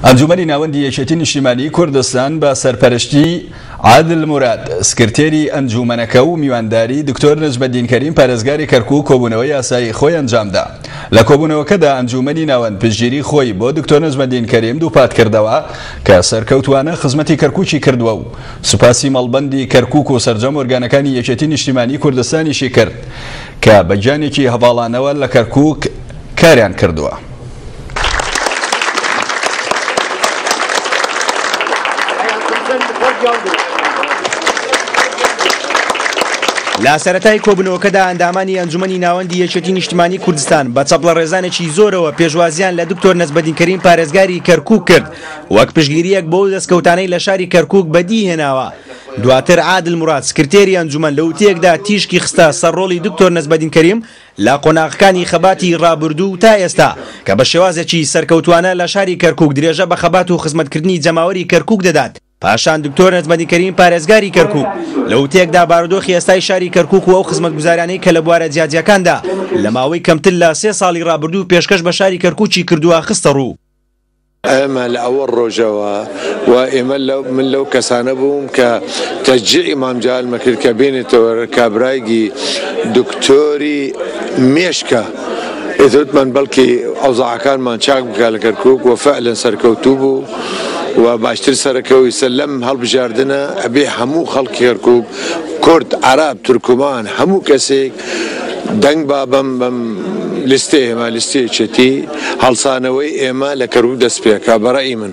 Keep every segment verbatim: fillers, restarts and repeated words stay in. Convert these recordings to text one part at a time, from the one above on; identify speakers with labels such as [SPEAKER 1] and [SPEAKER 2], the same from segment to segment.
[SPEAKER 1] ئەنجومەنی ناوەندی یەکێتی نیشتیمانی کوردستان بە سەرپەرشتی عادل موراد سکرتێری ئەنجومەنەکە و میوانداری دکتۆر نەجمەدین کەریم پارێزگاری کەرکوک کۆبوونەوەی یاسایی خۆی ئەنجامدا. لە کۆبوونەوەکەدا ئەنجومەنی ناوەند پشتگیری خۆی بۆ دکتۆر نەجمەدین کەریم دووپات کردەوە کە سەرکەوتوانە خزمەتی کەرکوکی کردووە و سوپاسی مەڵبەندی کەرکوک و سەرجەم ئۆرگانەکانی یەکێتی نیشتیمانی کوردستانیشی کرد کە بە گیانێکی هەڤاڵانەوە لە کەرکوک کاریان کردووە.
[SPEAKER 2] لە سەرەتای کۆبوونەوەکەدا ئەندامانی ئەنجومەنی ناوەندی یەکێتی نیشتیمانی کوردستان بە چەپڵە ڕێزانێکی زۆرەوە پێشوازیان لە دکتۆر نەجمەدین کەریم پارێزگاری کەرکوک کرد وەک پشتگیریەک بۆ دەستکەوتانەی لە شاری کەرکوک بەدی هێناوە. دواتر عادل موراد سکرتێری ئەنجومەن لە وتەیەکدا تیشکی خستە سەر ڕۆڵی دکتۆر نەجمەدین کەریم لە قۆناغەکانی خەباتی ڕابردوو تا ئێستا کە بە شێوازێکی سەرکەوتوانە لە شاری کەرکوک درێژە بە خەبات و خزمەتکردنی جەماوەری کەرکوک دەدات. پاشان دکتۆر نەجمەدین کەریم پارێزگاری کەرکوک لە وتەیەکدا بارودۆخی ئێستای شاری کەرکوک و ئەو خزمەتگوزاریانەی کە لە بوارە جیاجیاکاندا لە ماوەی کەمتر لە سێ ساڵی ڕابردوو پێشکەش بە شاری کەرکوکی کردووە خستە ڕوو.
[SPEAKER 3] ئێمە لە ئەوە ڕۆژەوە و ئێمە من لەو کەسانە بووم کە تەشجیعی مام جەلالمە کرد کە بێنێتەوە کابرایگی دکتۆری مێشکە ئێتوتمان بەڵکی ئەوزاعەکانمان چاک بکە لە کەرکوک و فعلا سەرکەوتوو بوو و باشتر سەرەکەوی سەلەم هەڵبژاردنە ئەبێ هەموو خەڵکی کەرکوک کورد عەرەب تورکمان هەموو کەسێک دەنگ با بەم بەم لیستەی ئێمە لیستەی یەکێتی هەڵسانەوەی ئێمە لە کەرکوک دەست پێکا بەڕەئی من.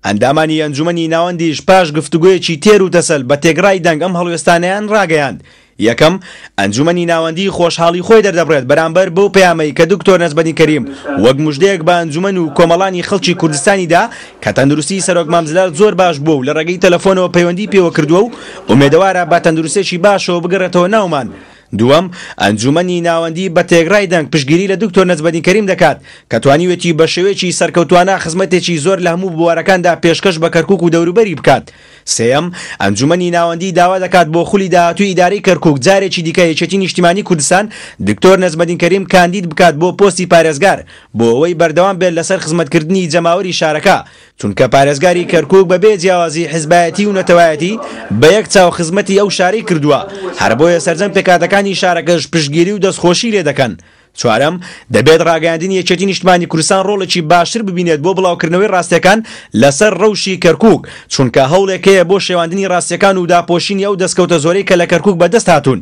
[SPEAKER 2] ئەندامانی ئەنجومەنی ناوەندیش پاش گفتوگۆیەکی تێر و تەسەل بە تێگڕای دەنگ ئەم هەڵوێستانەیان ڕاگەیاند. یەکەم، ئەنجومەنی ناوەندی خۆشحاڵی خۆی دەردەبڕێت بەرامبەر بەو پەیامەی کە دکتۆر نەجمەدین کەریم وەک مژدەیەک بە ئەنجومەن و کۆمەڵانی خەڵکی کوردستانیدا کە تەندروستی سەرۆک مام جەلال زۆر باش بووە و لە ڕێگەی تەلەفۆنەوە پەیوەندی پێوە کردووە و ئومێدەوارە بە تەندروستێکی باشەوە بگەڕێتەوە ناومان. دووەم، ئەنجومەنی ناوەندی بە تێگڕای دەنگ پشتگیری لە دکتۆر نەجمەدین کەریم دەکات کە توانیوێتی بە شێوەیەکی سەرکەوتوانە خزمەتێکی زۆر لە هەموو بوارەکاندا پێشکەش بە کەرکوک و دەوروبەری بکات. سێیەم، ئەنجومەنی ناوەندی داوا دەکات بۆ خولی داهاتووی ئیدارەی کەرکوک جارێکی دیکە یەکێتی نیشتیمانی کوردستان دکتۆر نەجمەدین کەریم کاندید بکات بۆ پۆستی پارێزگار بۆ ئەوەی بەردەوام بێت لەسەر خزمەتکردنی جەماوەری شارەکە، چونکە پارێزگاری کەرکوک بەبێ جیاوازی حزبایەتی و نەتەوایەتی بە یەک چاو خزمەتی ئەو شارەی کردووە، هەر بۆیە سەرجەم پێکهاتەکانی شارەکەش پشتگیری و دەستخۆشی لێ دەکەن. چوارەم، دەبێت ڕاگەیاندنی یەکێتی نیشتمانی کوردستان ڕۆڵێکی باشتر ببینێت بۆ بڵاوکردنەوەی ڕاستیەکان لەسەر ڕەوشی کەرکوک، چونکە هەوڵێک هەیە بۆ شێواندنی ڕاستیەکان و داپۆشینی ئەو دەستکەوتە زۆرەی کە لە کەرکوک بەدەست هاتوون.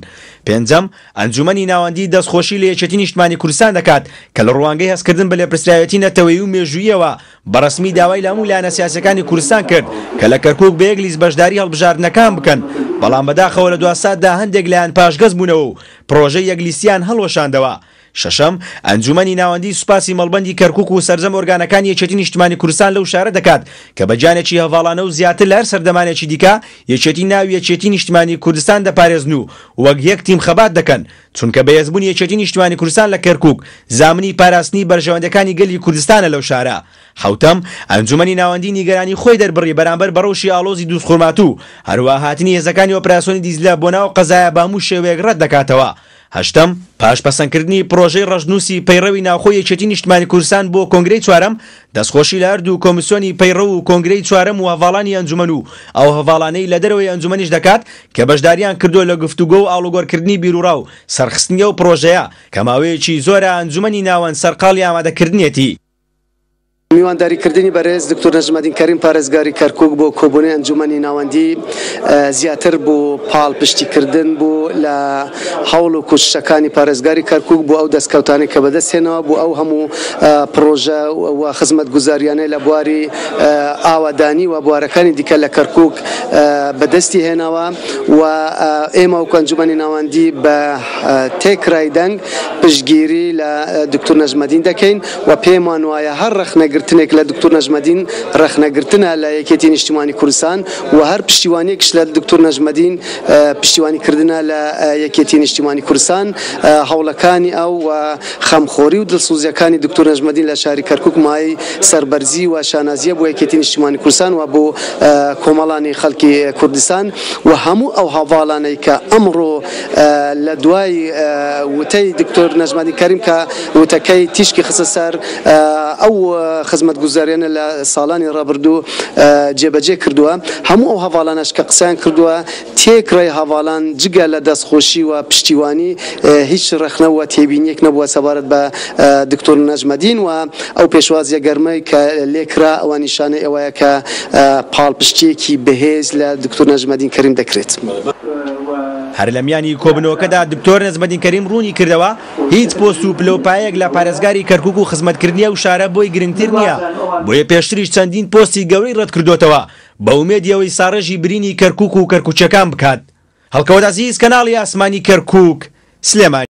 [SPEAKER 2] پێنجەم، ئەنجومەنی ناوەندی دەستخۆشی لە یەکێتی نیشتمانی کوردستان دەکات کە لە ڕوانگەی هەستکردن بە لێپرسراوێتی نەتەوەیی و مێژوویەوە بە ڕەسمی داوای لە هەموو لایەنە سیاسیەکانی کوردستان کرد کە لە کەرکوک بە یەک لیست بەشداری هەڵبژاردنەکان بکەن، بەڵام بەداخەوە لە دوا ساتدا هەندێک لایەن پاشگەز بوونەوە و پرۆژەی یەک لیستیان هەڵوەشاندەوە. شەشەم، ئەنجومەنی ناوەندی سوپاسی مەڵبەندی کەرکوک و سەرجەم ئۆرگانەکانی یەکێتی نیشتمانی کوردستان لەو شارە دەکات کە بە گیانێکی هەڤاڵانە و زیاتر لە هەر سەردەمانێکی دیکە یەکێتی ناوی یەکێتی نیشتمانی کوردستان دەپارێزن و وەک یەک تیم خەبات دەکەن، چونکە بەهێزبوونی یەکێتی نیشتمانی کوردستان لە کەرکوک زامنی پاراستنی بەرژەوەندەکانی گەلی کوردستانە لەو شارە. حوتەم، ئەنجومەنی ناوەندی نیگەرانی خۆی دەربڕی بەرامبەر بە ڕەوشی ئاڵۆزی دووزخورماتوو، هەروەها هاتنی هێزەکانی ئۆپراسیۆنی دیجلە بۆ ناو قەزایە بە هەموو شێوەیەک ڕەت دەکاتەوە. هەشتەم، پاش پەسەندکردنی پرۆژەی ڕەشنووسی پەیڕەوی ناوخۆی یەکێتی نیشتمانی کوردستان بۆ کۆنگرەی چوارەم، دەستخۆشی لە هەردوو کۆمیسیۆنی پەیڕەو و کۆنگرەی چوارەم و هەڤاڵانی ئەنجومەن و ئەو هەڤاڵانەی لە دەرەوەی ئەنجومەنیش دەکات کە بەشداریان کردووە لە گفتوگۆ و ئاڵوگۆڕکردنی بیروڕا و سەرخستنی ئەو پرۆژەیە کە ماوەیەکی زۆرە ئەنجومەنی ناوەند سەرقاڵی ئامادەکردنیەتی.
[SPEAKER 4] میوانداریکردنی بەرێز دکتۆر نەجمەدین کەریم پارێزگاری کەرکوک بۆ کۆبوونەوەی ئەنجومەنی ناوەندی زیاتر بۆ پاڵپشتیکردن بوو لە هەوڵ و کوششەکانی پارێزگاری کەرکوک بۆ ئەو دەستکەوتانەی کە بەدەستهێنەوە بۆ ئەو هەموو پرۆژە و خزمەتگوزاریانەی لە بواری ئاوادانی و بوارەکانی دیکە لە کەرکوک بەدەستی هێناوە و ئێمە وەکو ئەنجومەنی ناوەندی بە تێکرای دەنگ پشتگیری لە دکتۆر نەجمەدین دەکەین و پێمان وایە هەر ڕەخنەگرتنێک لە دکتۆر نەجمەدین ڕەخنەگرتنە لە یەکێتی نیشتیمانی کوردستان و هەر پشتیوانیەکش لە دکتۆر نەجمەدین پشتیوانیکردنە لە یەکێتی نیشتیمانی کوردستان. هەوڵەکانی ئەو و خەمخۆری و دڵسوزیەکانی دکتۆر نەجمەدین لە شاری کەرکوک مایەی سەربەرزی و شانازیە بۆ یەکێتی نیشتیمانی کوردستان و بۆ کۆمەڵانی خەڵکی کوردستان و هەموو ئەو هەڤاڵانەی کە ئەمڕۆ لە دوای وتەی دکتۆر نەجمەدین کەریم کە وتەکەی تیشکی خستە سەر ئەو خزمەتگوزاریانە لە ساڵانی ڕابردوو جێبەجێ کردووە. هەموو ئەو هەواڵانەش کە قسەیان کردووە تێکڕای هەواڵان جگە لە دەستخۆشی و پشتیوانی هیچ ڕەخنە و تێبینیەک نەبووە سەبارەت بە دکتۆر نەجمەدین و ئەو پێشوازیە گەرمەی کە لێکرا ئەوە نیشانەی ئەوەیە کە پاڵپشتیەکی بەهێز لە دکتۆر نەجمەدین کەریم دەکرێت.
[SPEAKER 2] هەر لە میانی کۆبنەوەکەدا دکتۆر نەجمەدین کەریم ڕوونی کردەوە هیچ پۆست و پلەوپایەک لە پارێزگاری کەرکوک و خزمەتکردنی ئەو شارە بۆی گرنگتر نییە، بۆیە پێشتریش چەندین پۆستی گەورەی ڕەت کردوتەوە بە ئومێدی ئەوەی ساڕێژی برینی کەرکوک و کەرکوچەکان بکات. هەڵکەوت عەزیز، کەناڵی ئاسمانی کەرکوک، سلێمانی.